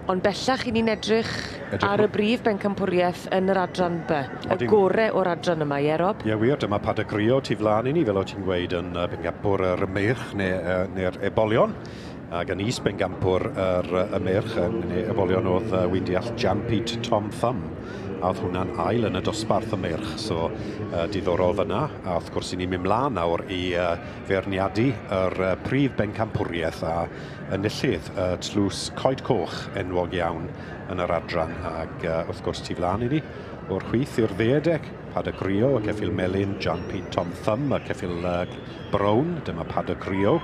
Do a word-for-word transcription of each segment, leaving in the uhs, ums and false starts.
Ond bellach i ni'n edrych, edrych ar y brif bencampwriaeth yn yr adran B. Y gore o'r adran yma, ie, Rob? Ie, wir, dyma Paddock Rio tu flaen i ni, fel o ti'n gweud, yn bencampwr yr meirch neu, neu'r ebolion. Ac yn is bencampwr yr y meirch neu ebolion oedd uh, wy'n deall Jan Pete Tom Thumb. A oedd hwnna'n ail yn y dosbarth y meirch, so uh, diddorol fyna. A wrth gwrs i ni'n mynd mlaen nawr i uh, feirniadu yr uh, prif bencampwriaeth a enillydd uh, tlws Coed Coch enwog iawn yn yr adran. Ac uh, wrth gwrs tu flaen i ni, o'r chwith i'r dde dec, Paddock Rio, y ceffyl melyn, Jan Pete Tom Thumb, y ceffyl uh, brown, dyma Paddock Rio.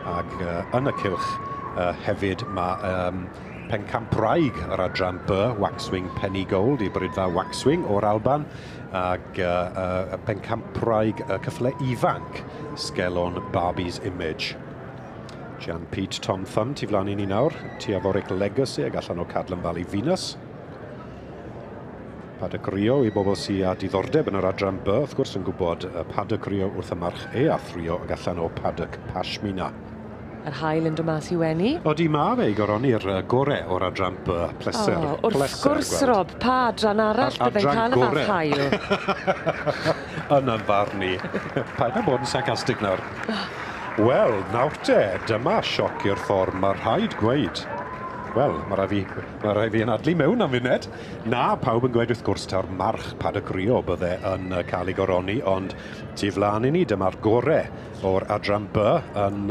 Ac uh, yn y cylch uh, hefyd mae um, pencampwraig yr adran B, Waxwing Penny Gold, i bridfa Waxwing o'r Alban, ac uh, uh, pencampwraig y uh, cyffle ifanc, Sgelon Barbie's Image. Jan Pete Tom Thumb, tu flaen i ni nawr, Tiaforic Legacy ag allan o Cadlan Valley Venus. Paddock Rio i bobl sydd â diddordeb yn yr adran B, wrth gwrs yn gwybod Paddock Rio wrth y march e a thrio ag allan o Paddock Pashmina. Yr haul yn dod mas i wenu. Odi, ma fe i goroni'r gore o'r adran B. Pleser. O, wrth pleser gwrs, gweld. Rob, pa adran arall byddai'n cael y fath haul? Yn yn farn i. Paid â bod yn sarcastic nawr. Wel, nawr te, dyma sioc i'r ffordd, mae rhaid gweud. Wel, mae rai fi, mae rai fi yn adlu mewn am funed. Na, pawb yn gweud wrth gwrs taw'r march Paddock Rio bydde yn cael ei goroni, ond tu flaen i ni, dyma'r gore o'r adran B yn,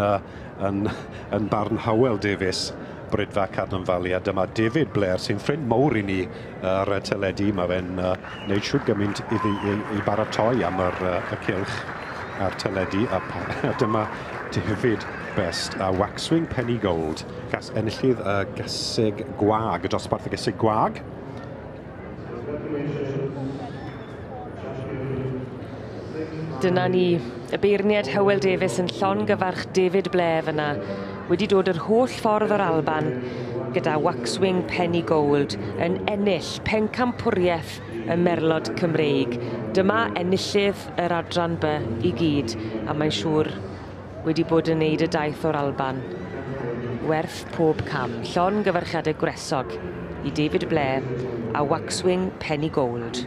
yn, yn barn Howell Davies, Bridfa Cadlan Valley, a dyma David Blair sy'n ffrind mawr i ni ar y teledu. Mae fe'n uh, neud siwr gymaint iddi i, i baratoi am yr, uh, y cylch a'r teledu, a, a dyma David Best a Waxwing Penny Gold, gas enillydd y gaseg gwag, y dosbarth y gaseg gwag. Dyna ni, y beirniad Howell Davies yn llongyfarch David Blair fyna, wedi dod yr holl ffordd o'r Alban gyda Waxwing Penny Gold yn ennill pencampwriaeth y Merlod Cymreig. Dyma enillydd yr adran B i gyd, a mae'n siŵr wedi bod yn neud y daith o'r Alban. Werth pob cam. Llongyfarchiadau gwresog i David Blair a Waxwing Penny Gold.